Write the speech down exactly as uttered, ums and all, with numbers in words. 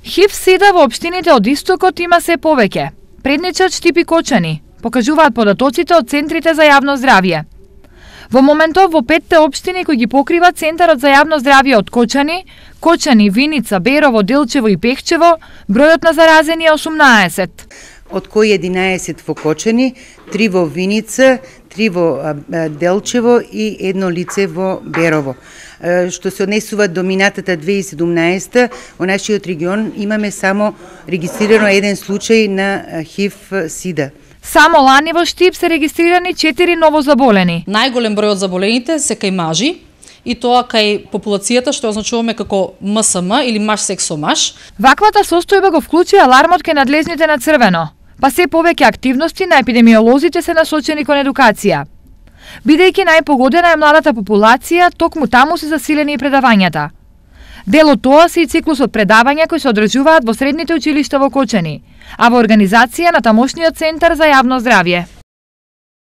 ХИВ-сида во општините од Истокот има се повеќе. Предничат Штипи Кочани, покажуваат податоците од центрите за јавно здравје. Во моментов во петте општини кои ги покрива Центарот за јавно здравје од Кочани, Кочани, Виница, Берово, Делчево и Пехчево, бројот на заразени е осумнаесет. Од кои единаесет во Кочани, три во Виница, три во Делчево и едно лице во Берово. Што се однесува до минатата две илјади и седумнаесета, во нашиот регион имаме само регистрирано еден случај на ХИВ-сида. Само лани во Штип се регистрирани четири новозаболени. Најголем број од заболените се кај мажи, и тоа кај популацијата што означуваме како М С М или маж секс со маж. Ваквата состојба го вклучи алармот кај надлежните на црвено, па се повеќе активности на епидемиолозите се насочени кон едукација. Бидејќи најпогодена е младата популација, токму таму се засилени и предавањата. Дел од тоа се и циклусот предавања кои се одржуваат во средните училишта во Кочани, а во организација на тамошниот Центар за јавно здравје.